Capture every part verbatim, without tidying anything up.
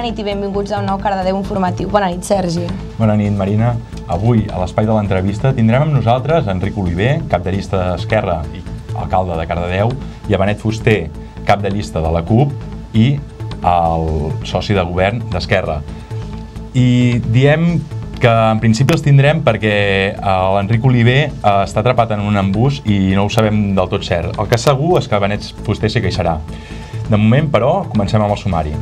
nit i benvinguts a un nou Cardedeu informatiu. Bona nit, Sergi. Bona nit, Marina. Avui, a l'espai de l'entrevista, tindrem amb nosaltres Enric Oliver, cap de llista d'Esquerra i alcalde de Cardedeu, i a Benet Fuster, cap de llista de la CUP i el soci de govern d'Esquerra. I diem que en principi els tindrem perquè l'Enric Oliver està atrapat en un embús i no ho sabem del tot cert. El que és segur és que Benet Fuster sí que hi serà. De moment, però, comencem amb el sumari.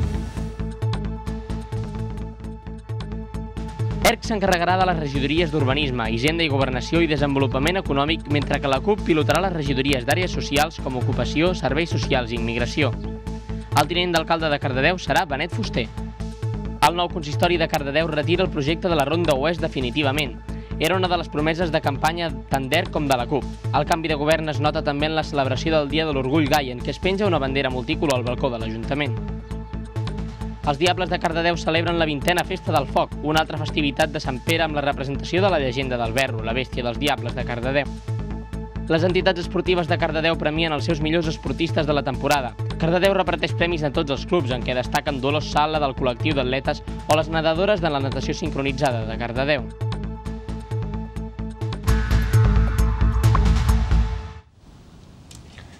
ERC s'encarregarà de les regidories d'Urbanisme, Hisenda i Governació i Desenvolupament Econòmic, mentre que la CUP pilotarà les regidories d'àrees socials com Ocupació, Serveis Socials i Immigració. El tinent d'alcalde de Cardedeu serà Benet Fuster. El nou consistori de Cardedeu retira el projecte de la Ronda Oest definitivament. Era una de les promeses de campanya tant d'ERC com de la CUP. El canvi de govern es nota també en la celebració del Dia de l'Orgull Gai, en què es penja una bandera multicolor al balcó de l'Ajuntament. Els Diables de Cardedeu celebren la vintena Festa del Foc, una altra festivitat de Sant Pere amb la representació de la llegenda del Verro, la bèstia dels Diables de Cardedeu. Les entitats esportives de Cardedeu premien els seus millors esportistes de la temporada. Cardedeu reparteix premis a tots els clubs, en què destaquen Dolors Sala del col·lectiu d'atletes o les nedadores de la natació sincronitzada de Cardedeu.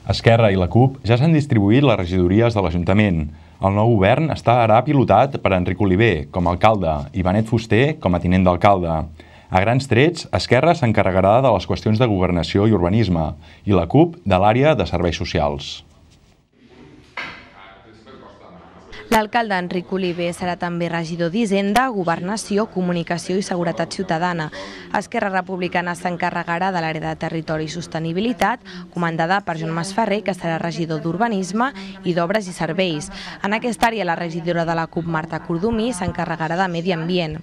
Esquerra i la CUP ja s'han distribuït les regidories de l'Ajuntament. El nou govern estarà pilotat per Enric Oliver com a alcalde i Benet Fuster com a tinent d'alcalde. A grans trets, Esquerra s'encarregarà de les qüestions de governació i urbanisme i la CUP de l'àrea de serveis socials. L'alcalde Enric Oliver serà també regidor d'Hisenda, Governació, Comunicació i Seguretat Ciutadana. Esquerra Republicana s'encarregarà de l'àrea de Territori i Sostenibilitat, comandada per Joan Masferrer, que serà regidor d'Urbanisme i d'Obres i Serveis. En aquesta àrea, la regidora de la CUP, Marta Cordomí, s'encarregarà de Medi Ambient.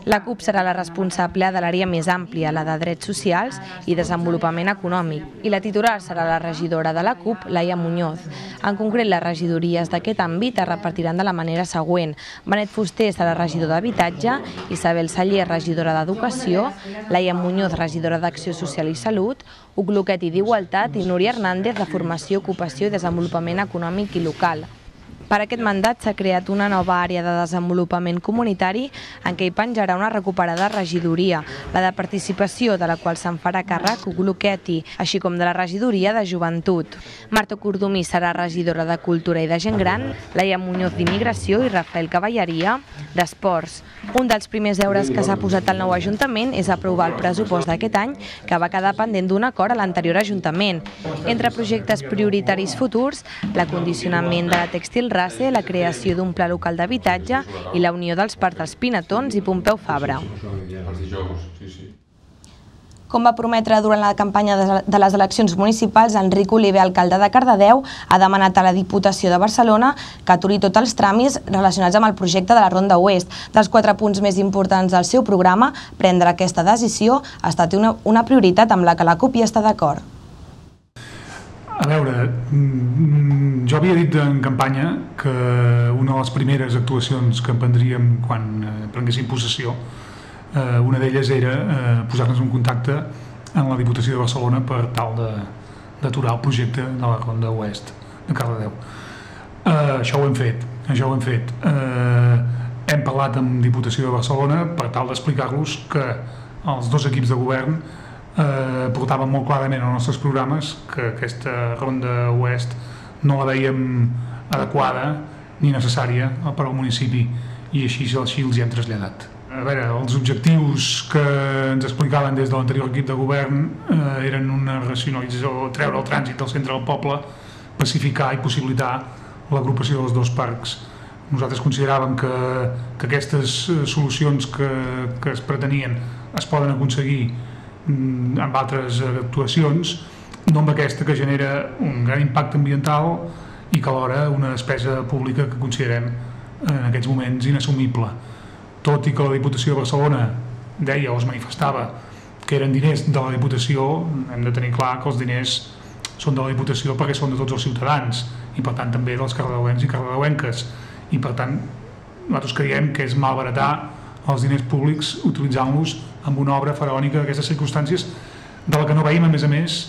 La CUP serà la responsable de l'àrea més àmplia, la de Drets Socials i Desenvolupament Econòmic, i la titular serà la regidora de la CUP, Laia Muñoz. En concret, les regidories d'aquest àmbit es repartiran de la manera següent. Benet Fuster serà regidor d'Habitatge, Isabel Saller, regidora d'Educació, Laia Muñoz, regidora d'Acció Social i Salut, Huc Luquet i d'Igualtat i Núria Hernández de Formació, Ocupació i Desenvolupament Econòmic i Local. Per aquest mandat s'ha creat una nova àrea de desenvolupament comunitari en què hi penjarà una recuperada regidoria, la de participació, de la qual se'n farà càrrec Huc Luqueti, així com de la regidoria de joventut. Marta Cordomí serà regidora de Cultura i de Gent Gran, Laia Muñoz d'Immigració i Rafael Cavalleria d'Esports. Un dels primers deures que s'ha posat al nou Ajuntament és aprovar el pressupost d'aquest any, que va quedar pendent d'un acord a l'anterior Ajuntament. Entre projectes prioritaris futurs, l'acondicionament de la Tèxtil Race, la creació d'un pla local d'habitatge i la unió dels Parcs dels Pinatons i Pompeu Fabra. Com va prometre durant la campanya de les eleccions municipals, Enric Oliver, alcalde de Cardedeu, ha demanat a la Diputació de Barcelona que aturi tots els tràmits relacionats amb el projecte de la Ronda Oest. Dels quatre punts més importants del seu programa, prendre aquesta decisió ha estat una, una prioritat amb la que la CUP hi està d'acord. A veure, jo havia dit en campanya que una de les primeres actuacions que emprendríem quan prenguéssim possessió, una d'elles era posar-nos en contacte amb la Diputació de Barcelona per tal d'aturar el projecte de la Ronda Oest de Cardedeu. Això ho hem fet, això ho hem fet. Hem parlat amb Diputació de Barcelona per tal d'explicar-los que els dos equips de govern portaven molt clarament als nostres programes que aquesta Ronda Oest no la veiem adequada ni necessària per al municipi i així els hi hem traslladat. A veure, els objectius que ens explicaven des de l'anterior equip de govern eren una racionalització, treure el trànsit del centre del poble, pacificar i possibilitar l'agrupació dels dos parcs. Nosaltres consideràvem que aquestes solucions que es pretenien es poden aconseguir amb altres actuacions, no amb aquesta que genera un gran impacte ambiental i que alhora una despesa pública que considerem en aquests moments inassumible. Tot i que la Diputació de Barcelona deia o es manifestava que eren diners de la Diputació, hem de tenir clar que els diners són de la Diputació perquè són de tots els ciutadans i per tant també dels cardedeuencs i cardedeuenques i per tant nosaltres creiem que és malbaratar els diners públics utilitzant-los amb una obra faraònica d'aquestes circumstàncies de la que no veiem a més a més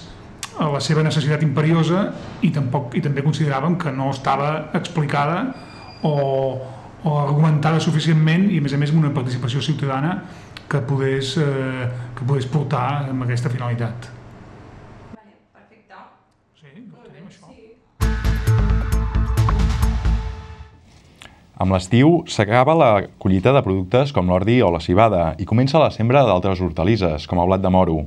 la seva necessitat imperiosa i, tampoc, i també consideràvem que no estava explicada o, o argumentada suficientment i a més a més amb una participació ciutadana que podés, eh, que podés portar amb aquesta finalitat. Vale, perfecte. Sí, ho tenim, això. Amb l'estiu s'acaba la collita de productes com l'ordi o la civada i comença la sembra d'altres hortalisses, com el blat de moro.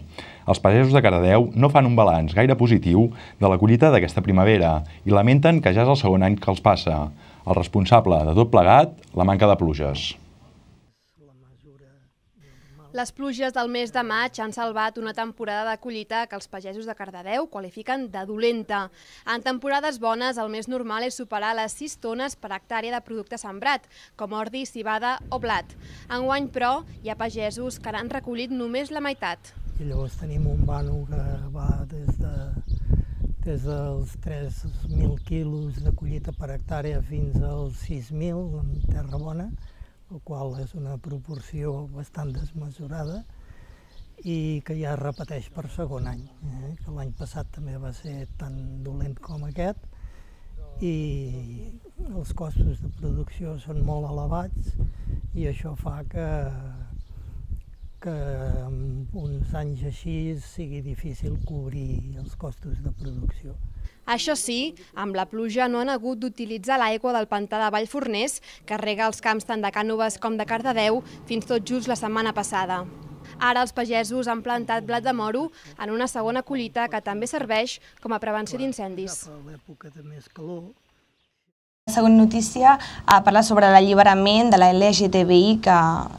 Els pagesos de Cardedeu no fan un balanç gaire positiu de la collita d'aquesta primavera i lamenten que ja és el segon any que els passa. El responsable de tot plegat, la manca de pluges. Les pluges del mes de maig han salvat una temporada de collita que els pagesos de Cardedeu qualifiquen de dolenta. En temporades bones, el més normal és superar les sis tones per hectàrea de producte sembrat, com ordi, civada o blat. Enguany, però, hi ha pagesos que n'han recollit només la meitat. I llavors tenim un vano que va des, de, des dels tres mil quilos de collita per hectàrea fins als sis mil en terra bona, el qual és una proporció bastant desmesurada i que ja es repeteix per segon any, eh? que l'any passat també va ser tan dolent com aquest i els costos de producció són molt elevats i això fa que que en uns anys així sigui difícil cobrir els costos de producció. Això sí, amb la pluja no han hagut d'utilitzar l'aigua del pantà de Vallforners, que rega els camps tant de Cànoves com de Cardedeu, fins tot just la setmana passada. Ara els pagesos han plantat blat de moro en una segona collita que també serveix com a prevenció d'incendis. Cap a l'època de més calor. La segona notícia parla sobre l'alliberament de la L G T B I que,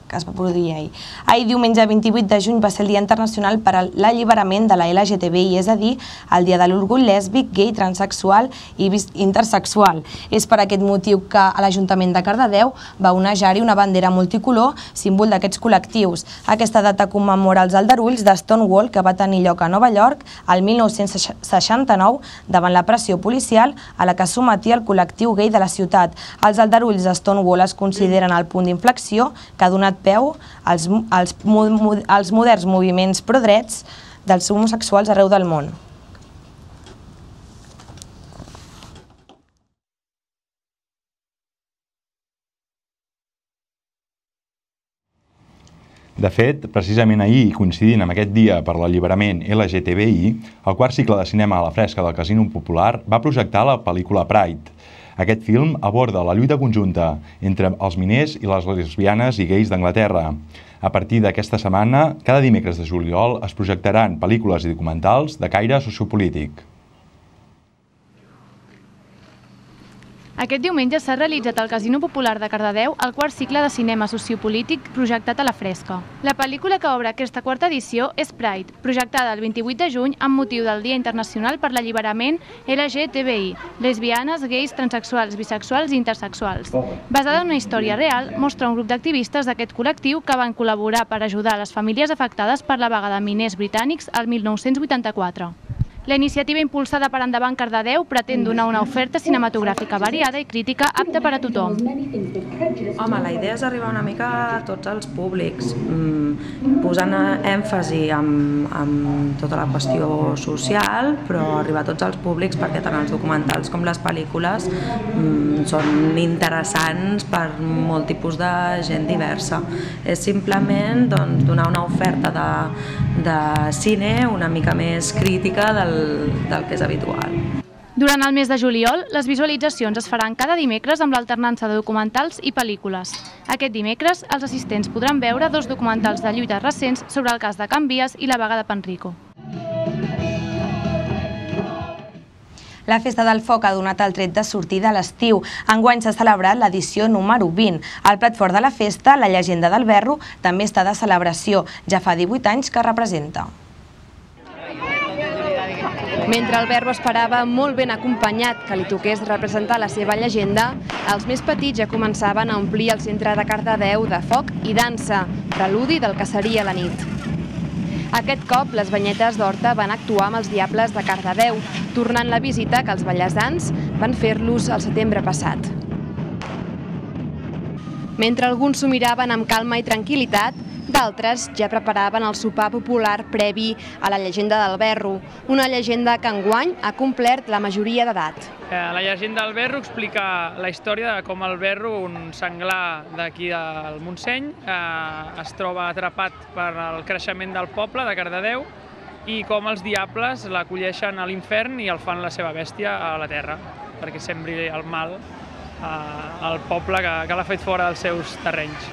que es va produir ahir. Ahir, diumenge vint-i-vuit de juny, va ser el Dia Internacional per a l'alliberament de la L G T B I, és a dir, el Dia de l'Orgull lèsbic, gai, transexual i intersexual. És per aquest motiu que a l'Ajuntament de Cardedeu va onejar-hi una bandera multicolor, símbol d'aquests col·lectius. Aquesta data commemora els aldarulls de Stonewall que va tenir lloc a Nova York el mil nou-cents seixanta-nou davant la pressió policial a la que sometia el col·lectiu gai de la ciutat. Els aldarulls de Stonewall es consideren el punt d'inflexió que ha donat peu als, als, als moderns moviments pro-drets dels homosexuals arreu del món. De fet, precisament ahir, coincidint amb aquest dia per l'alliberament L G T B I, el quart cicle de cinema a la fresca del Casino Popular va projectar la pel·lícula Pride. Aquest film aborda la lluita conjunta entre els miners i les lesbianes i gais d'Anglaterra. A partir d'aquesta setmana, cada dimecres de juliol es projectaran pel·lícules i documentals de caire sociopolític. Aquest diumenge s'ha realitzat al Casino Popular de Cardedeu el quart cicle de cinema sociopolític projectat a la fresca. La pel·lícula que obre aquesta quarta edició és Pride, projectada el vint-i-vuit de juny amb motiu del Dia Internacional per l'Alliberament L G T B I, lesbianes, gais, transexuals, bisexuals i intersexuals. Basada en una història real, mostra un grup d'activistes d'aquest col·lectiu que van col·laborar per ajudar les famílies afectades per la vaga de miners britànics el mil nou-cents vuitanta-quatre. La iniciativa impulsada per Endavant Cardedeu pretén donar una oferta cinematogràfica variada i crítica apta per a tothom. Home, la idea és arribar una mica a tots els públics, posant èmfasi en tota la qüestió social, però arribar a tots els públics perquè tant els documentals com les pel·lícules són interessants per molt tipus de gent diversa. És simplement donar una oferta de cine una mica més crítica del del que és habitual. Durant el mes de juliol, les visualitzacions es faran cada dimecres amb l'alternança de documentals i pel·lícules. Aquest dimecres, els assistents podran veure dos documentals de lluita recents sobre el cas de Can Vies i la vaga de Panrico. La Festa del Foc ha donat el tret de sortida a l'estiu. Enguany s'ha celebrat l'edició número vint. Al plat fort de la festa, la llegenda del Verro també està de celebració. Ja fa divuit anys que representa. Mentre el Verro esperava molt ben acompanyat que li toqués representar la seva llegenda, els més petits ja començaven a omplir el centre de Cardedeu de foc i dansa, preludi del que seria la nit. Aquest cop, les banyetes d'Horta van actuar amb els Diables de Cardedeu, tornant la visita que els ballesans van fer-los el setembre passat. Mentre alguns s'ho miraven amb calma i tranquil·litat, D'altres ja preparaven el sopar popular previ a la llegenda del Verro, una llegenda que enguany ha complert la majoria d'edat. La llegenda del Verro explica la història de com el Verro, un senglar d'aquí del Montseny, es troba atrapat per el creixement del poble de Cardedeu i com els diables l'acolleixen a l'infern i el fan la seva bèstia a la terra, perquè sembri el mal al poble que l'ha fet fora dels seus terrenys.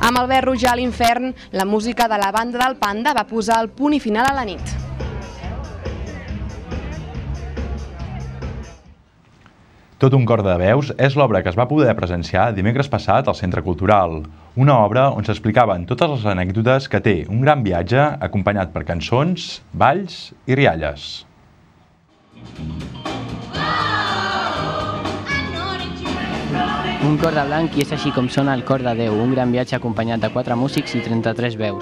Amb el Verro ja a l'infern, la música de la banda del Panda va posar el punt i final a la nit. Tot un cor de veus és l'obra que es va poder presenciar dimecres passat al Centre Cultural. Una obra on s'explicaven totes les anècdotes que té un gran viatge acompanyat per cançons, balls i rialles. Un cor de blanc i és així com sona el cor de Déu, un gran viatge acompanyat de quatre músics i trenta-tres veus.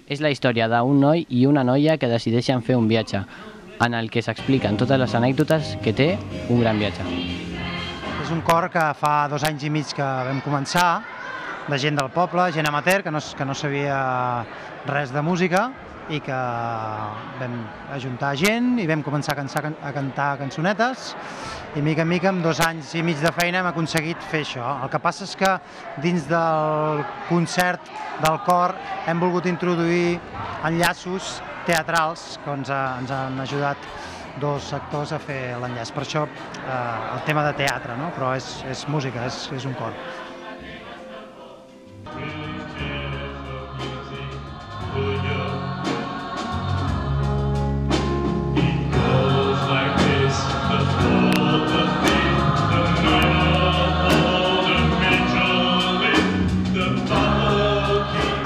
És la història d'un noi i una noia que decideixen fer un viatge, en el que s'expliquen totes les anècdotes que té un gran viatge. És un cor que fa dos anys i mig que vam començar, de gent del poble, gent amateur, que no, que no sabia res de música, i que vam ajuntar gent i vam començar a, cansar, a cantar cançonetes i mica en mica, amb dos anys i mig de feina, hem aconseguit fer això. El que passa és que dins del concert del cor hem volgut introduir enllaços teatrals que ens, ha, ens han ajudat dos actors a fer l'enllaç. Per això eh, el tema de teatre, no? Però és, és música, és, és un cor.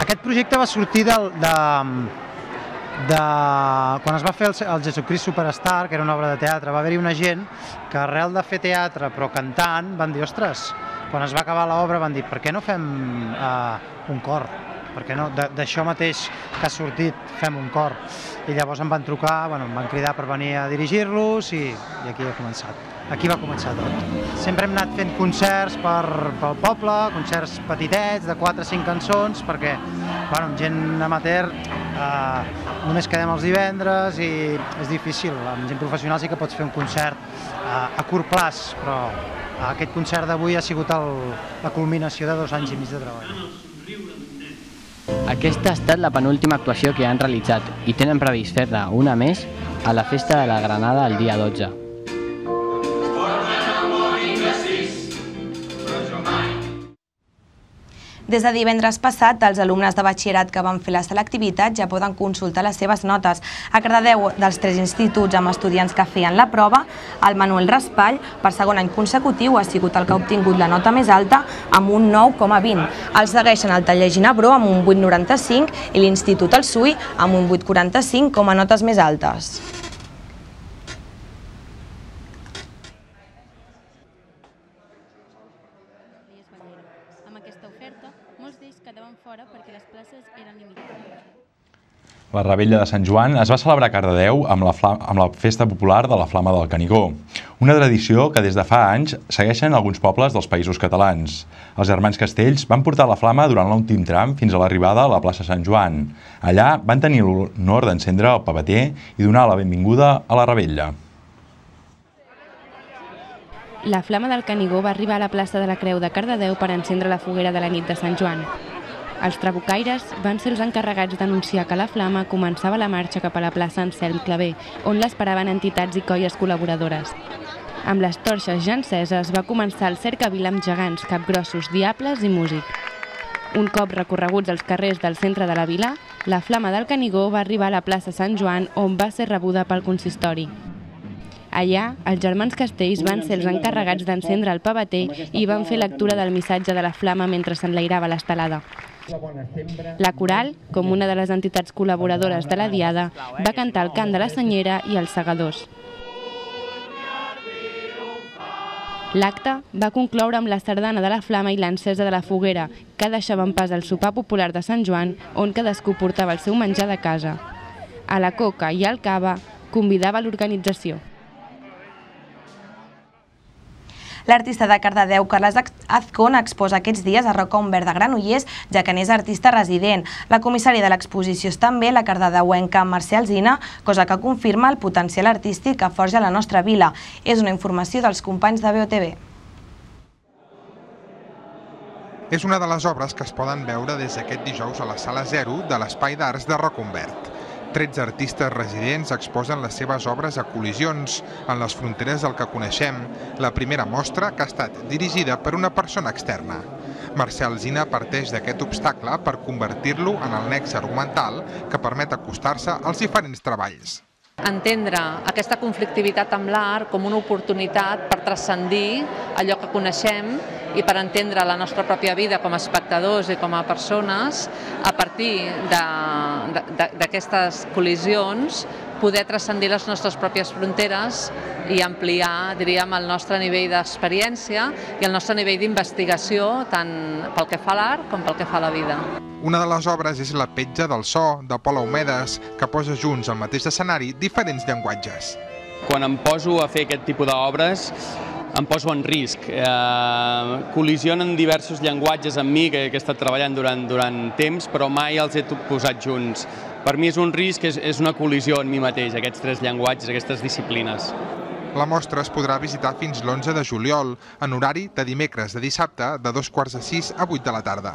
Aquest projecte va sortir del, de, de, quan es va fer el, el Jesucrist Superstar, que era una obra de teatre. Va haver-hi una gent que arrel de fer teatre però cantant van dir, ostres, quan es va acabar l'obra van dir, per què no fem uh, un cor? Per què no? D'això mateix que ha sortit fem un cor. I llavors em van trucar, bueno, em van cridar per venir a dirigir-los i, i aquí ha començat. Aquí va començar tot. Sempre hem anat fent concerts per, pel poble, concerts petitets, de quatre o cinc cançons, perquè bueno, amb gent amateur eh, només quedem els divendres i és difícil. Amb gent professional sí que pots fer un concert eh, a curt plaç, però aquest concert d'avui ha sigut el, la culminació de dos anys i mig de treball. Aquesta ha estat la penúltima actuació que han realitzat i tenen previst fer-ne una més a la Festa de la Granada el dia dotze. Des de divendres passat, els alumnes de batxillerat que van fer la selectivitat ja poden consultar les seves notes. A Cardedeu, dels tres instituts amb estudiants que feien la prova, el Manuel Raspall, per segon any consecutiu, ha sigut el que ha obtingut la nota més alta amb un nou coma vint. El segueixen el Taller Ginebró amb un vuit coma noranta-cinc i l'Institut El Sui amb un vuit coma quaranta-cinc com a notes més altes. La Revetlla de Sant Joan es va celebrar a Cardedeu amb la, amb la Festa Popular de la Flama del Canigó, una tradició que des de fa anys segueixen alguns pobles dels Països Catalans. Els germans Castells van portar la flama durant l'últim tram fins a l'arribada a la plaça Sant Joan. Allà van tenir l'honor d'encendre el pavater i donar la benvinguda a la Revetlla. La Flama del Canigó va arribar a la plaça de la Creu de Cardedeu per encendre la foguera de la nit de Sant Joan. Els trabucaires van ser els encarregats d'anunciar que la flama començava la marxa cap a la plaça Anselm Clavé, on l'esperaven entitats i colles col·laboradores. Amb les torxes ja enceses va començar el cercavila amb gegants, capgrossos, diables i músic. Un cop recorreguts els carrers del centre de la vila, la Flama del Canigó va arribar a la plaça Sant Joan, on va ser rebuda pel consistori. Allà, els germans Castells van ser els encarregats d'encendre el pavater i van fer lectura del missatge de la flama mentre s'enlairava l'estelada. La Coral, com una de les entitats col·laboradores de la Diada, va cantar el cant de la Senyera i els segadors. L'acte va concloure amb la sardana de la Flama i l'encesa de la foguera, que deixaven pas al sopar popular de Sant Joan, on cadascú portava el seu menjar de casa. A la coca i al cava convidava l'organització. L'artista de Cardedeu, Carles Azcón, exposa aquests dies a Rocca Umbert de Granollers, ja que n'és artista resident. La comissària de l'exposició és també la cardedeuenca Mercè Alsina, cosa que confirma el potencial artístic que forja la nostra vila. És una informació dels companys de B O T V. És una de les obres que es poden veure des d'aquest dijous a la Sala Zero de l'Espai d'Arts de Rocca Umbert. tretze artistes residents exposen les seves obres a col·lisions en les fronteres del que coneixem, la primera mostra que ha estat dirigida per una persona externa. Mercè Alsina parteix d'aquest obstacle per convertir-lo en el nexe argumental que permet acostar-se als diferents treballs. Entendre aquesta conflictivitat amb l'art com una oportunitat per transcendir allò que coneixem i per entendre la nostra pròpia vida com a espectadors i com a persones, a partir d'aquestes col·lisions, poder transcendir les nostres pròpies fronteres i ampliar, diríem, el nostre nivell d'experiència i el nostre nivell d'investigació, tant pel que fa a l'art com pel que fa a la vida. Una de les obres és La petja del so, de Pol Aumedes, que posa junts al mateix escenari diferents llenguatges. Quan em poso a fer aquest tipus d'obres, em poso en risc. Col·lisionen diversos llenguatges amb mi, que he estat treballant durant temps, però mai els he posat junts. Per mi és un risc, és una col·lisió en mi mateix, aquests tres llenguatges, aquestes disciplines. La mostra es podrà visitar fins l'onze de juliol, en horari de dimecres de dissabte, de dos quarts de sis a vuit de la tarda.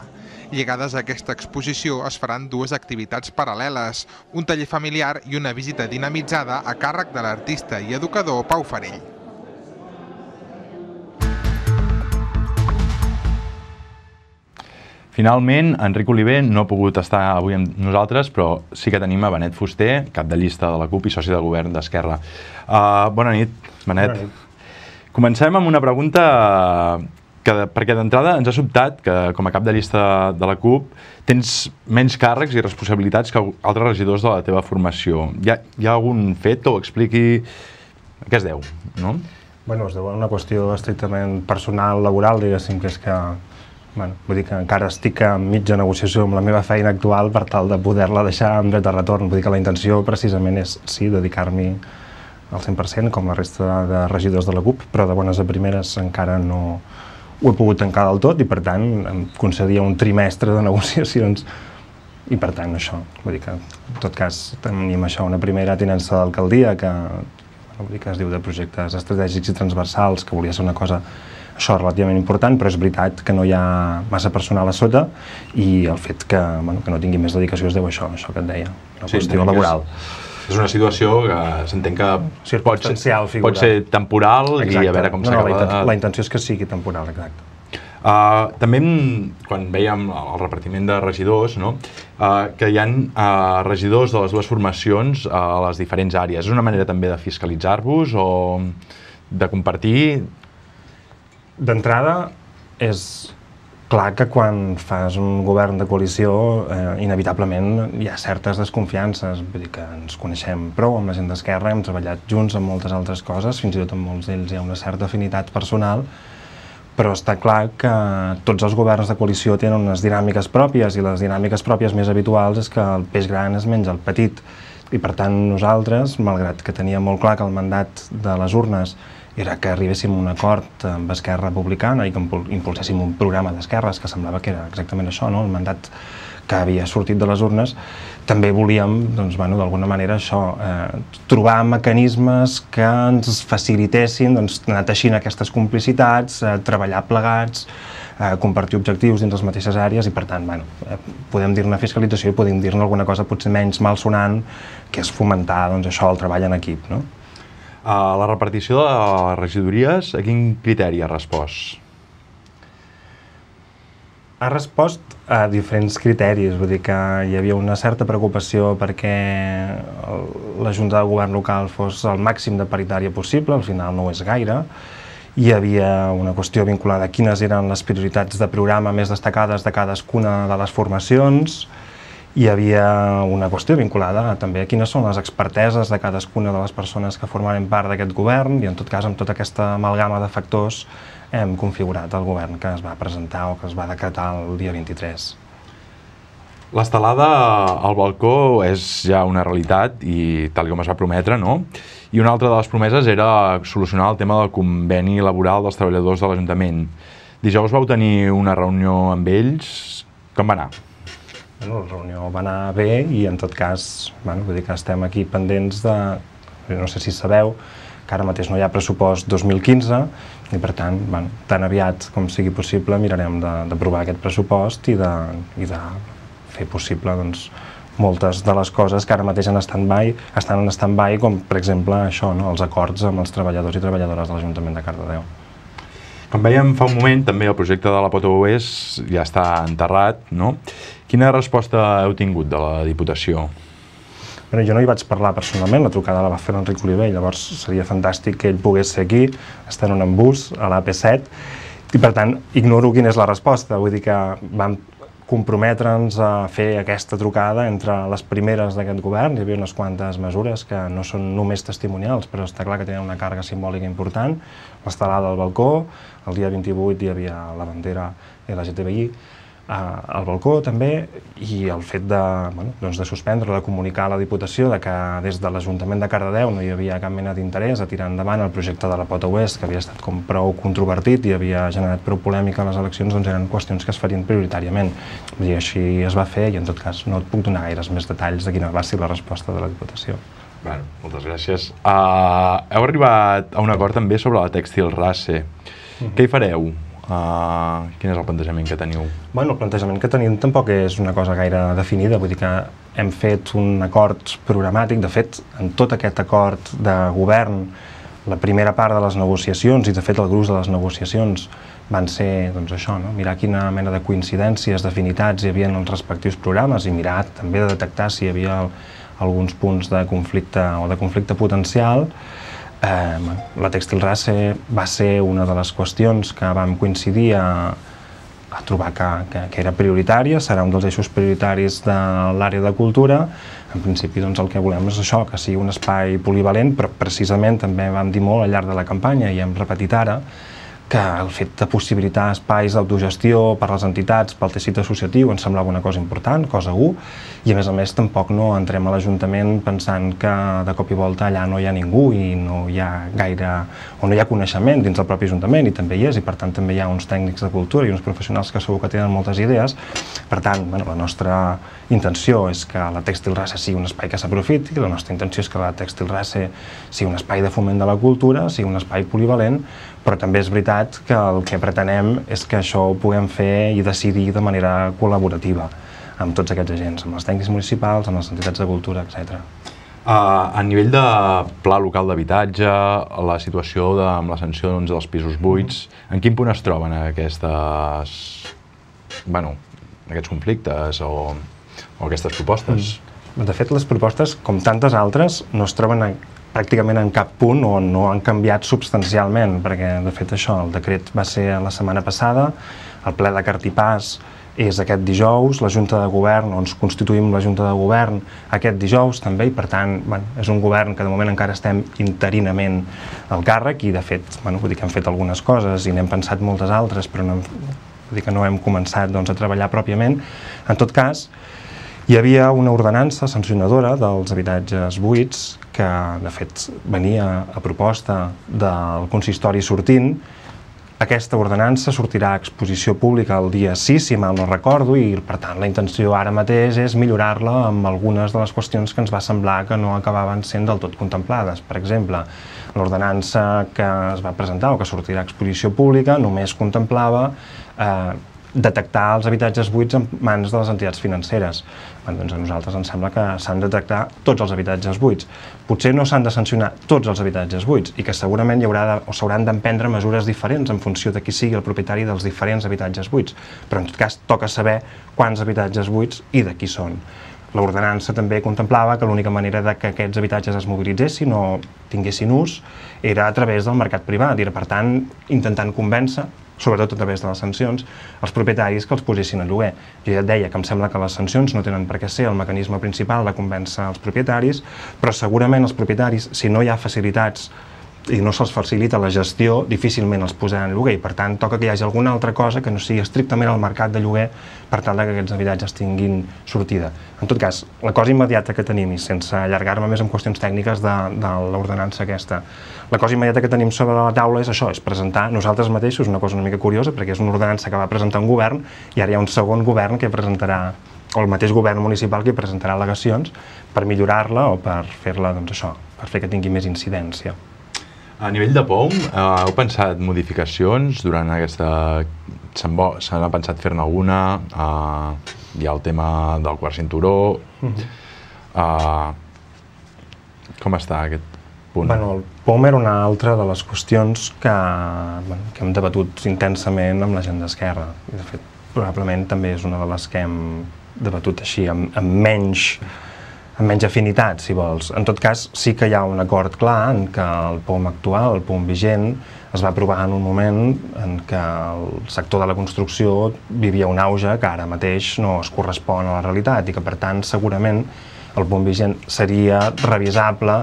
Lligades a aquesta exposició es faran dues activitats paral·leles, un taller familiar i una visita dinamitzada a càrrec de l'artista i educador Pau Farell. Finalment, Enric Oliver no ha pogut estar avui amb nosaltres, però sí que tenim a Benet Fuster, cap de llista de la CUP i soci de govern d'Esquerra. Uh, bona nit, Benet. Bona nit. Comencem amb una pregunta que, perquè d'entrada ens ha sobtat que, com a cap de llista de la CUP, tens menys càrrecs i responsabilitats que altres regidors de la teva formació. Hi ha, hi ha algun fet que ho expliqui a què es deu, no? Bueno, es deu a una qüestió estrictament personal, laboral, diguéssim, que és que Bueno, vull dir que encara estic a mitja negociació amb la meva feina actual per tal de poder-la deixar amb dret de retorn. Vull dir que la intenció precisament és, sí, dedicar-m'hi al cent per cent, com la resta de regidors de la CUP, però de bones a primeres encara no ho he pogut tancar del tot i, per tant, em concedia un trimestre de negociacions i, per tant, això. Vull dir que, en tot cas, tenim això, una primera tinença d'alcaldia que, vull dir que es diu de projectes estratègics i transversals, que volia ser una cosa això relativament important, però és veritat que no hi ha massa personal a sota i el fet que, bueno, que no tingui més dedicació es deu a això, això que et deia, una sí, qüestió laboral. És, és una situació que s'entén que pot ser, pot ser temporal. Exacte. I a veure com no, s'acaba. No, la, intenció, la intenció és que sigui temporal, exacte. Uh, també, quan veiem el repartiment de regidors, no? uh, que hi ha uh, regidors de les dues formacions uh, a les diferents àrees. És una manera també de fiscalitzar-vos o de compartir? D'entrada, és clar que quan fas un govern de coalició, eh, inevitablement hi ha certes desconfiances. Vull dir que ens coneixem prou amb la gent d'Esquerra, hem treballat junts en moltes altres coses, fins i tot amb molts d'ells hi ha una certa afinitat personal, però està clar que tots els governs de coalició tenen unes dinàmiques pròpies i les dinàmiques pròpies més habituals és que el peix gran es menja el petit. I per tant nosaltres, malgrat que teníem molt clar que el mandat de les urnes era que arribéssim a un acord amb Esquerra Republicana i que impulséssim un programa d'esquerres que semblava que era exactament això, no? El mandat que havia sortit de les urnes, també volíem, doncs, bueno, d'alguna manera això, eh, trobar mecanismes que ens facilitessin doncs, anar teixint aquestes complicitats, eh, treballar plegats, eh, compartir objectius dins les mateixes àrees i, per tant, bueno, eh, podem dir-ne fiscalització i podem dir-ne alguna cosa potser menys malsonant, que és fomentar doncs, això, el treball en equip, no? Uh, la repartició de les regidories, a quin criteri ha respost? Ha respost a diferents criteris, vull dir que hi havia una certa preocupació perquè la Junta de Govern local fos el màxim de paritària possible, al final no ho és gaire. Hi havia una qüestió vinculada a quines eren les prioritats de programa més destacades de cadascuna de les formacions hi havia una qüestió vinculada també a quines són les experteses de cadascuna de les persones que formaven part d'aquest govern i en tot cas amb tota aquesta amalgama de factors hem configurat el govern que es va presentar o que es va decretar el dia vint-i-tres. L'estelada al balcó és ja una realitat i tal com es va prometre, no? I una altra de les promeses era solucionar el tema del conveni laboral dels treballadors de l'Ajuntament. Dijous vau tenir una reunió amb ells. Com va anar? Bueno, la reunió va anar bé i en tot cas, bueno, vull dir que estem aquí pendents de... No sé si sabeu que ara mateix no hi ha pressupost dos mil quinze i per tant, bueno, tan aviat com sigui possible mirarem d'aprovar aquest pressupost i de, i de fer possible doncs, moltes de les coses que ara mateix en stand-by, estan en stand-by, com per exemple això, no? Els acords amb els treballadors i treballadores de l'Ajuntament de Cardedeu. Com vèiem fa un moment, també el projecte de la Pota Oest ja està enterrat, no? Quina resposta heu tingut de la Diputació? Bueno, jo no hi vaig parlar personalment, la trucada la va fer l'Enric Oliver, llavors seria fantàstic que ell pogués ser aquí, estar en un embús a l'A P set, i per tant ignoro quina és la resposta, vull dir que vam comprometre'ns a fer aquesta trucada entre les primeres d'aquest govern. Hi havia unes quantes mesures que no són només testimonials, però està clar que tenen una càrrega simbòlica important. L'estelada al balcó, el dia vint-i-vuit hi havia la bandera L G T B I al balcó també, i el fet de, bueno, doncs de suspendre, de comunicar a la Diputació de que des de l'Ajuntament de Cardedeu no hi havia cap mena d'interès a tirar endavant el projecte de la Pota Oest, que havia estat com prou controvertit i havia generat prou polèmica a les eleccions, doncs eren qüestions que es farien prioritàriament. I així es va fer i en tot cas no et puc donar gaires més detalls de quina va ser la resposta de la Diputació. Bueno, moltes gràcies. Uh, heu arribat a un acord també sobre la Tèxtil Race. Uh-huh. Què hi fareu? Uh, quin és el plantejament que teniu? Bueno, el plantejament que tenim tampoc és una cosa gaire definida, vull dir que hem fet un acord programàtic. De fet, en tot aquest acord de govern, la primera part de les negociacions, i de fet el gruix de les negociacions, van ser doncs, això, no? Mirar quina mena de coincidències, d'afinitats hi havia en els respectius programes i mirar també de detectar si hi havia alguns punts de conflicte o de conflicte potencial. Eh, la Tèxtil Race va ser una de les qüestions que vam coincidir a, a trobar que, que, que era prioritària, serà un dels eixos prioritaris de l'àrea de cultura. En principi doncs, el que volem és això, que sigui un espai polivalent, però precisament també vam dir molt al llarg de la campanya i hem repetit ara que el fet de possibilitar espais d'autogestió per a les entitats, pel teixit associatiu, ens semblava una cosa important, cosa u, i a més a més tampoc no entrem a l'Ajuntament pensant que de cop i volta allà no hi ha ningú i no hi ha gaire, o no hi ha coneixement dins del propi Ajuntament, i també hi és, i per tant també hi ha uns tècnics de cultura i uns professionals que segur que tenen moltes idees. Per tant, bueno, la nostra intenció és que la Tèxtil Race sigui un espai que s'aprofiti, la nostra intenció és que la Tèxtil Race sigui un espai de foment de la cultura, sigui un espai polivalent, però també és veritat que el que pretenem és que això ho puguem fer i decidir de manera col·laborativa amb tots aquests agents, amb els tècnics municipals, amb les entitats de cultura, etcètera. Uh, a nivell de pla local d'habitatge, la situació de, amb la sanció doncs, dels pisos buits, en quin punt es troben aquestes, bueno, aquests conflictes o, o aquestes propostes? Mm. De fet, les propostes, com tantes altres, no es troben a pràcticament en cap punt o no han canviat substancialment, perquè de fet això, el decret va ser la setmana passada, el ple de Cartipàs és aquest dijous, la Junta de Govern, on ens constituïm la Junta de Govern aquest dijous també, i per tant bueno, és un govern que de moment encara estem interinament al càrrec i de fet, bueno, vull dir que hem fet algunes coses i n'hem pensat moltes altres, però no, vull dir que no hem començat doncs, a treballar pròpiament. En tot cas, hi havia una ordenança sancionadora dels habitatges buits que, de fet, venia a proposta del consistori sortint. Aquesta ordenança sortirà a exposició pública el dia sis, si mal no recordo, i per tant la intenció ara mateix és millorar-la amb algunes de les qüestions que ens va semblar que no acabaven sent del tot contemplades. Per exemple, l'ordenança que es va presentar o que sortirà a exposició pública només contemplava eh, detectar els habitatges buits en mans de les entitats financeres. Bueno, doncs a nosaltres ens sembla que s'han de detectar tots els habitatges buits. Potser no s'han de sancionar tots els habitatges buits i que segurament hi haurà de, o s'hauran d'emprendre mesures diferents en funció de qui sigui el propietari dels diferents habitatges buits. Però en tot cas toca saber quants habitatges buits i de qui són. L'ordenança també contemplava que l'única manera de que aquests habitatges es mobilitzessin o tinguessin ús era a través del mercat privat i era, per tant, intentant convèncer sobretot a través de les sancions, els propietaris que els posessin a lloguer. Jo ja et deia que em sembla que les sancions no tenen per què ser el mecanisme principal de convèncer els propietaris, però segurament els propietaris, si no hi ha facilitats i no se'ls facilita la gestió, difícilment els posaran en lloguer i per tant toca que hi hagi alguna altra cosa que no sigui estrictament el mercat de lloguer per tal que aquests habitatges tinguin sortida. En tot cas, la cosa immediata que tenim, i sense allargar-me més en qüestions tècniques de, de l'ordenança aquesta, la cosa immediata que tenim sobre la taula és això, és presentar nosaltres mateixos, una cosa una mica curiosa, perquè és una ordenança que va presentar un govern i ara hi ha un segon govern que presentarà, o el mateix govern municipal que presentarà al·legacions per millorar-la o per fer-la, doncs això, per fer que tingui més incidència. A nivell de P O M, eh, heu pensat modificacions durant aquesta... Se n'ha pensat fer-ne alguna? Eh, hi ha el tema del quart cinturó. Uh-huh. eh, com està aquest punt? Bueno, el P O M era una altra de les qüestions que, bueno, que hem debatut intensament amb la gent d'Esquerra. De fet, probablement també és una de les que hem debatut així, amb, amb menys... amb menys afinitat, si vols. En tot cas, sí que hi ha un acord clar en què el P O M actual, el P O M vigent, es va aprovar en un moment en què el sector de la construcció vivia un auge que ara mateix no es correspon a la realitat i que, per tant, segurament el P O M vigent seria revisable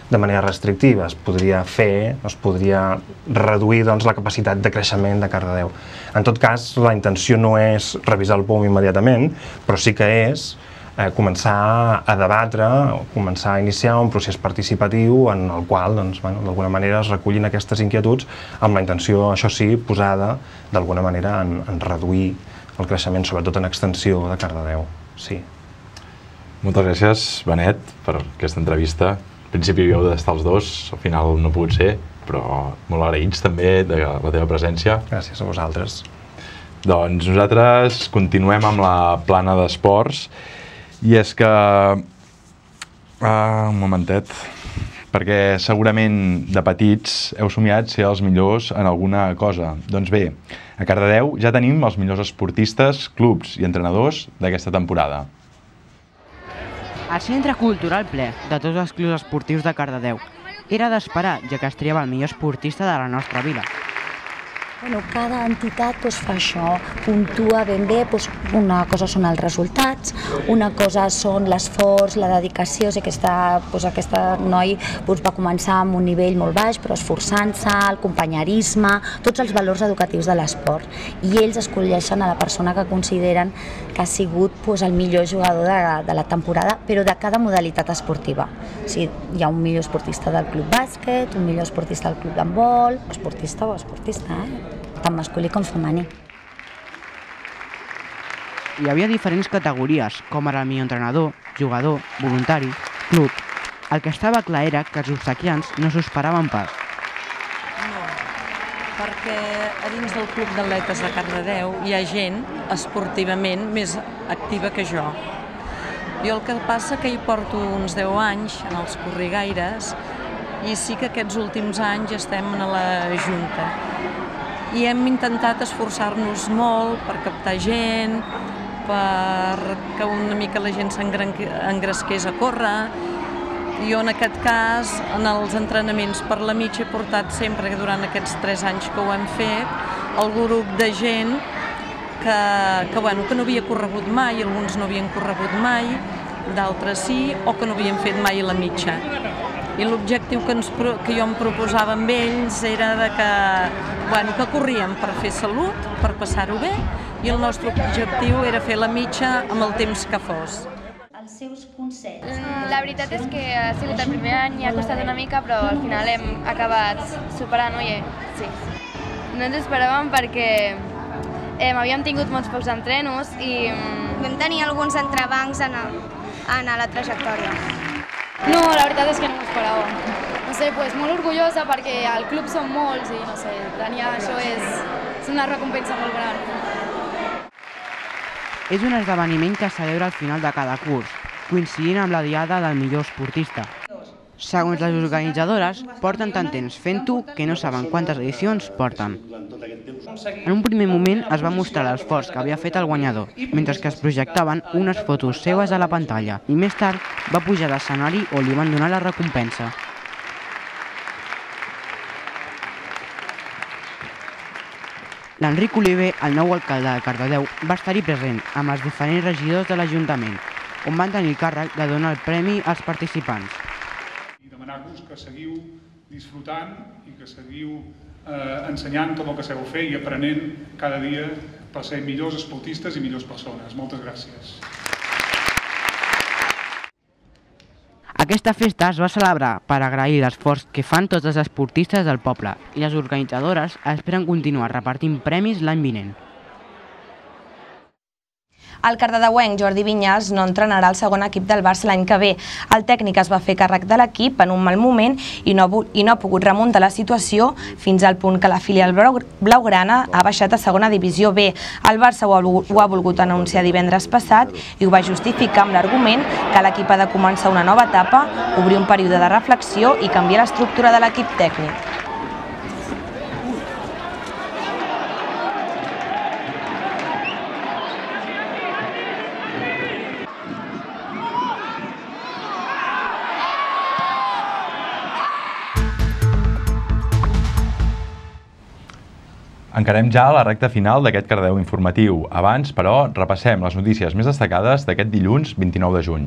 de manera restrictiva. Es podria fer, es podria reduir doncs, la capacitat de creixement de Cardedeu. En tot cas, la intenció no és revisar el P O M immediatament, però sí que és Eh, començar a debatre, començar a iniciar un procés participatiu en el qual, doncs, bueno, d'alguna manera es recullin aquestes inquietuds amb la intenció, això sí, posada d'alguna manera en, en reduir el creixement, sobretot en extensió de Cardedeu. Sí. Moltes gràcies, Benet, per aquesta entrevista. Al principi havíeu d'estar els dos, al final no ha pogut ser, però molt agraïts també de la teva presència. Gràcies a vosaltres. Doncs nosaltres continuem amb la plana d'esports. I és que... Ah, un momentet. Perquè segurament de petits heu somiat ser els millors en alguna cosa. Doncs bé, a Cardedeu ja tenim els millors esportistes, clubs i entrenadors d'aquesta temporada. El Centre Cultural ple de tots els clubs esportius de Cardedeu era d'esperar, ja que es triava el millor esportista de la nostra vila. Bueno, cada entitat doncs, fa això, puntua ben bé, doncs, una cosa són els resultats, una cosa són l'esforç, la dedicació, o sigui, aquesta, doncs, aquesta noi doncs, va començar amb un nivell molt baix, però esforçant-se, el companyerisme, tots els valors educatius de l'esport. I ells escolleixen a la persona que consideren que ha sigut doncs, el millor jugador de, de la temporada, però de cada modalitat esportiva. O sigui, hi ha un millor esportista del club bàsquet, un millor esportista del club d'handbol, esportista o esportista, eh? Tant masculí com femení. Hi havia diferents categories, com ara el millor entrenador, jugador, voluntari, club. El que estava clar era que els obsequiants no s'ho esperaven pas. No, perquè a dins del Club d'Atletes de Cardedeu hi ha gent esportivament més activa que jo. Jo el que passa que hi porto uns deu anys en els corrigaires i sí que aquests últims anys estem a la Junta. I hem intentat esforçar-nos molt per captar gent, per que una mica la gent s'engresqués a córrer. Jo en aquest cas, en els entrenaments per la mitja he portat sempre, durant aquests tres anys que ho hem fet, el grup de gent que, que, bueno, que no havia corregut mai, alguns no havien corregut mai, d'altres sí, o que no havien fet mai la mitja. I l'objectiu que, ens, que jo em proposava amb ells era de que, bueno, que corríem per fer salut, per passar-ho bé, i el nostre objectiu era fer la mitja amb el temps que fos. Els seus consells. La veritat és que ha sigut el primer any i ha costat una mica, però al final hem acabat superant-ho i sí. No ens esperàvem perquè eh, havíem tingut molts pocs entrenos i... Vam tenir alguns entrebancs en, en la trajectòria. No, la veritat és que no m'ho esperava. No sé, pues, molt orgullosa perquè al club són molts i no sé, tenir això és, és una recompensa molt gran. És un esdeveniment que es celebra al final de cada curs, coincidint amb la diada del millor esportista. Segons les organitzadores, porten tant temps fent-ho que no saben quantes edicions porten. En un primer moment es va mostrar l'esforç que havia fet el guanyador, mentre que es projectaven unes fotos seves a la pantalla, i més tard va pujar a l'escenari on li van donar la recompensa. L'Enric Oliver, el nou alcalde de Cardedeu, va estar-hi present amb els diferents regidors de l'Ajuntament, on van tenir el càrrec de donar el premi als participants. I demanar-vos que seguiu disfrutant i que seguiu ensenyant tot el que sabeu fer i aprenent cada dia per ser millors esportistes i millors persones. Moltes gràcies. Aquesta festa es va celebrar per agrair l'esforç que fan tots els esportistes del poble i les organitzadores esperen continuar repartint premis l'any vinent. El cardedeuenc Jordi Vinyals no entrenarà el segon equip del Barça l'any que ve. El tècnic es va fer càrrec de l'equip en un mal moment i no, i no ha pogut remuntar la situació fins al punt que la filial blaugrana ha baixat a segona divisió B. El Barça ho ha, ho ha volgut anunciar divendres passat i ho va justificar amb l'argument que l'equip ha de començar una nova etapa, obrir un període de reflexió i canviar l'estructura de l'equip tècnic. Encarem ja la recta final d'aquest Cardedeu informatiu. Abans, però, repassem les notícies més destacades d'aquest dilluns vint-i-nou de juny.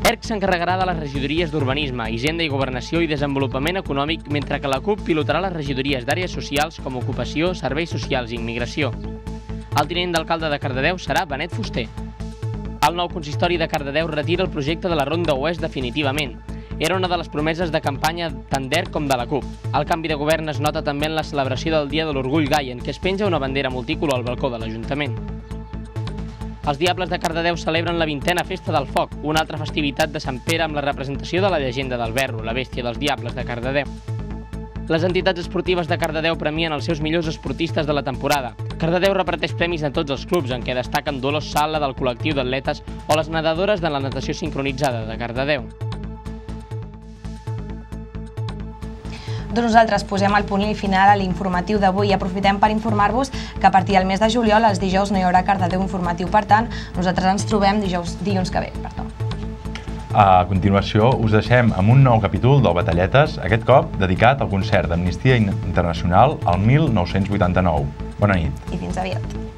E R C s'encarregarà de les regidories d'Urbanisme, Hisenda i Governació i Desenvolupament Econòmic, mentre que la CUP pilotarà les regidories d'àrees socials com Ocupació, Serveis Socials i Immigració. El tinent d'alcalde de Cardedeu serà Benet Fuster. El nou consistori de Cardedeu retira el projecte de la Ronda Oest definitivament. Era una de les promeses de campanya tant d'E R C com de la CUP. El canvi de govern es nota també en la celebració del Dia de l'Orgull Gai, en què es penja una bandera multicolor al balcó de l'Ajuntament. Els Diables de Cardedeu celebren la vintena Festa del Foc, una altra festivitat de Sant Pere amb la representació de la llegenda del Verro, la bèstia dels Diables de Cardedeu. Les entitats esportives de Cardedeu premien els seus millors esportistes de la temporada. Cardedeu reparteix premis a tots els clubs, en què destaquen Dolors Sala del col·lectiu d'atletes o les nedadores de la natació sincronitzada de Cardedeu. Doncs nosaltres posem el punt i final a l'informatiu d'avui i aprofitem per informar-vos que a partir del mes de juliol, els dijous, no hi haurà Cardedeu informatiu. Per tant, nosaltres ens trobem dijous, dilluns que ve. Perdó. A continuació, us deixem amb un nou capítol del Batalletes, aquest cop dedicat al concert d'Amnistia Internacional al mil nou-cents vuitanta-nou. Bona nit. I fins aviat.